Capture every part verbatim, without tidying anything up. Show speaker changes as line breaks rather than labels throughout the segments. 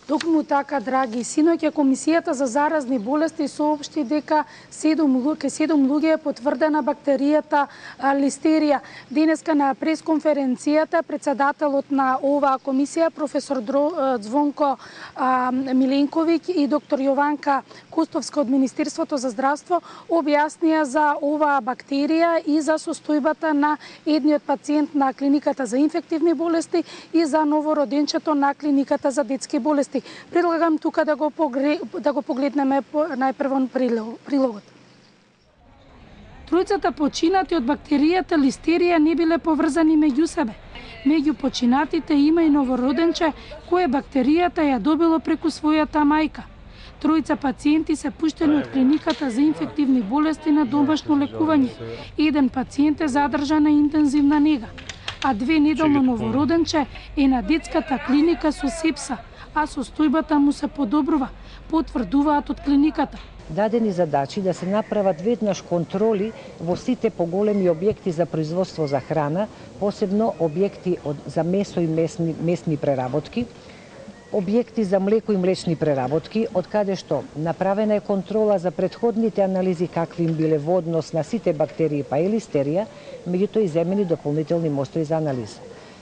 Токму така, драги, синоќа Комисијата за заразни болести соопшти дека седум луѓе е потврдена бактеријата листерија. Денеска на пресконференцијата председателот на оваа комисија професор Звонко Миленковиќ и доктор Јованка Костовска од Министерството за здравство објаснија за оваа бактерија и за состојбата на едниот пациент на клиниката за инфективни болести и за новороденчето на клиниката за детски болести. Предлагам тука да го, погре... да го погледнеме најпрво прилогот. Тројцата починати од бактеријата листерија не биле поврзани меѓу себе. Меѓу починатите има и новороденче кое бактеријата ја добило преку својата мајка. Тројца пациенти се пуштени од клиниката за инфективни болести на домашно лекување. Еден пациент е задржан на интензивна нега, а две неделно новороденче е на детската клиника со сепса, а состојбата му се подобрува, потврдуваат од клиниката.
Дадени задачи да се направат веднаш контроли во сите поголеми објекти за производство за храна, посебно објекти од, за месо и месни, месни преработки, објекти за млеко и млечни преработки, од каде што направена е контрола за претходните анализи какви им биле во однос на сите бактерии па и листерија, меѓутоа и земени дополнителни мостри за анализа.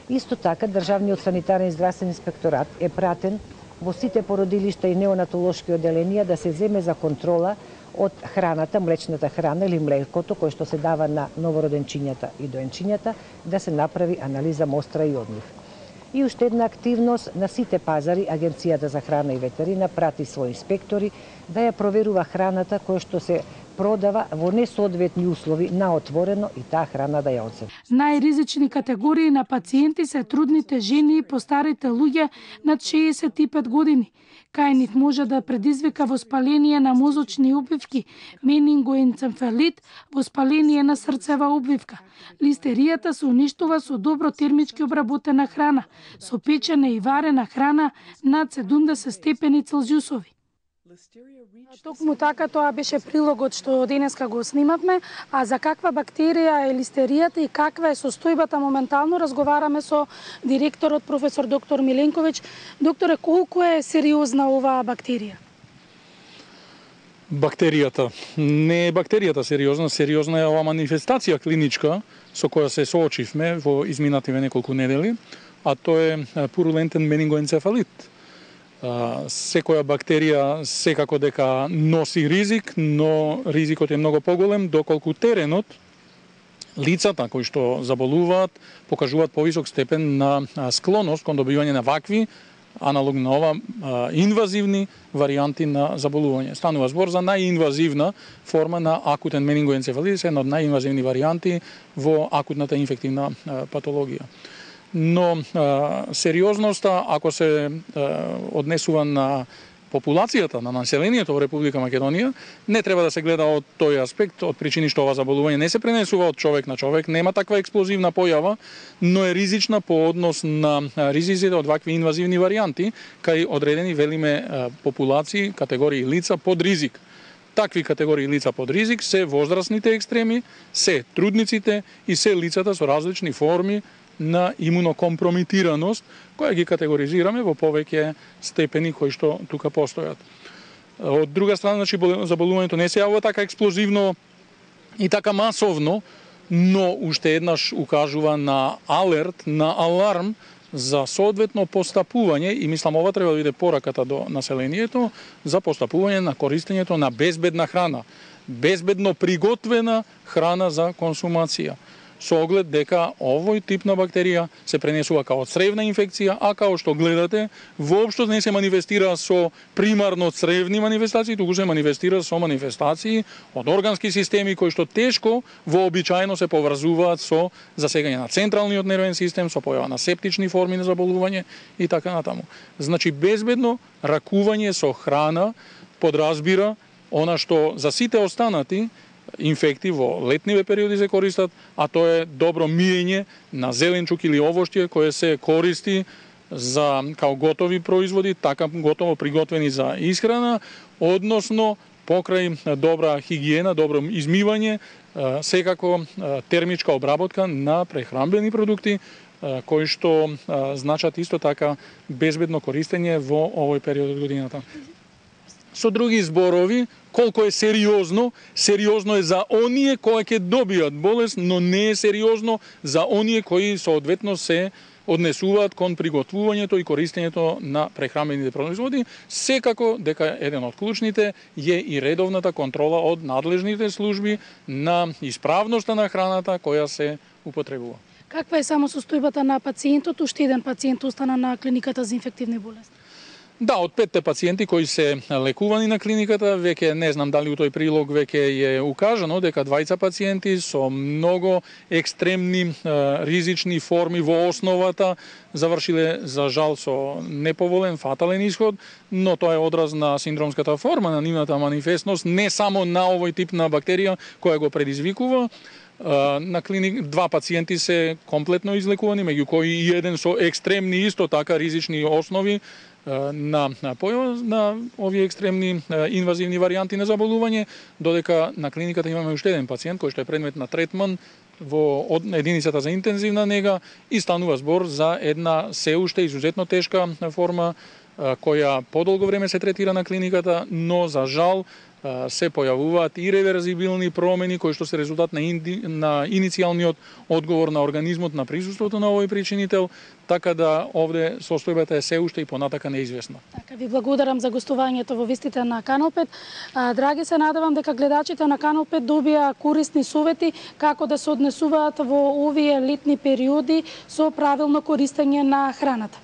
Исто така, Државниот санитарен и здравствен инспекторат е пратен во сите породилишта и неонатолошки оделенија да се земе за контрола од храната, млечната храна или млекото кој што се дава на новороденчињата и доенчињата, да се направи анализа мостра и од нив. И уште една активност на сите пазари, Агенцијата за храна и ветерина прати своји инспектори да ја проверува храната која што се продава во несоодветни услови на отворено и таа храна да ја оцени.
Најризични категории на пациенти се трудните жени и постарите луѓе над шеесет и пет години. Кај нив може да предизвика воспаление на мозочни обвивки, менингоенцефалит, воспаление на срцева обвивка. Листеријата се уништува со добро термички обработена храна, со печена и варена храна над седумдесет степени Целзиусови. Токму така, тоа беше прилогот што денеска го снимавме, а за каква бактерија е листеријата и каква е состојбата моментално разговараме со директорот професор доктор Миленковиќ. Докторе, колку е сериозна оваа бактерија?
Бактеријата. Не е бактеријата сериозна, сериозна е оваа манифестација клиничка со која се соочивме во изминативе неколку недели, а тоа е пурулентен менингоенцефалит. Секоја бактерија секако дека носи ризик, но ризикот е многу поголем доколку теренот, лицата кои што заболуваат, покажуваат повисок степен на склоност кон добивање на вакви, аналог на ова, инвазивни варијанти на заболување. Станува збор за најинвазивна форма на акутен менингоенцефалит, една од најинвазивни варијанти во акутната инфективна патологија. Но а, сериозноста, ако се а, однесува на популацијата, на населението во Република Македонија, не треба да се гледа од тој аспект, од причини што ова заболување не се пренесува од човек на човек, нема таква експлозивна појава, но е ризична по однос на ризиците од вакви инвазивни варијанти, кај одредени велиме популации, категории лица под ризик. Такви категории лица под ризик се возрастните екстреми, се трудниците и се лицата со различни форми на имунокомпромитираност, која ги категоризираме во повеќе степени кои што тука постојат. Од друга страна, значи, заболувањето не се јавува така експлозивно и така масовно, но уште еднаш укажува на алерт, на аларм за соодветно постапување, и мислам ова треба да биде пораката до населението, за постапување на користењето на безбедна храна, безбедно приготвена храна за консумација, со оглед дека овој тип на бактерија се пренесува као цревна инфекција, а као што гледате, воопшто не се манифестира со примарно цревни манифестации, туку се манифестира со манифестации од органски системи кои што тешко вообичаено се поврзуваат со засегање на централниот нервен систем, со појава на септични форми на заболување и така натаму. Значи, безбедно ракување со храна подразбира она што за сите останати инфекти во летниве периоди се користат, а тоа е добро миење на зеленчук или овошје кое се користи за као готови производи, така готово приготвени за исхрана, односно покрај добра хигиена, добро измивање, секако термичка обработка на прехранбени продукти, кои што значат исто така безбедно користење во овој период од годината. Со други зборови, колку е сериозно, сериозно е за оние кои ќе добијат болест, но не е сериозно за оние кои соодветно се однесуваат кон приготвувањето и користењето на прехранбените производи, секако дека еден од клучните е и редовната контрола од надлежните служби на исправноста на храната која се употребува.
Каква е само состојбата на пациентот? Уште еден пациент остана на клиниката за инфективни болести.
Да, од петте пациенти кои се лекувани на клиниката, веќе не знам дали у тој прилог веќе е укажано дека двајца пациенти со многу екстремни ризични форми во основата завршиле за жал со неповолен фатален исход, но тоа е одраз на синдромската форма на нивната манифестност, не само на овој тип на бактерија која го предизвикува. На клиник два пациенти се комплетно излекувани, меѓу кои и еден со екстремни исто така ризични основи на на појава на овие екстремни инвазивни варијанти на заболување, додека на клиниката имаме уште еден пациент кој што е предмет на третман во единицата за интензивна нега и станува збор за една се уште изузетно тешка форма која подолго време се третира на клиниката, но за жал се појавуваат иреверзибилни промени кои што се резултат на, инди, на иницијалниот одговор на организмот на присуството на овој причинител, така да овде состојбата е се уште и понатака неизвестна.
Така, ви благодарам за гостувањето во вестите на Канал пет. А, драги, се надевам дека гледачите на Канал пет добија корисни совети како да се однесуваат во овие летни периоди со правилно користење на храната.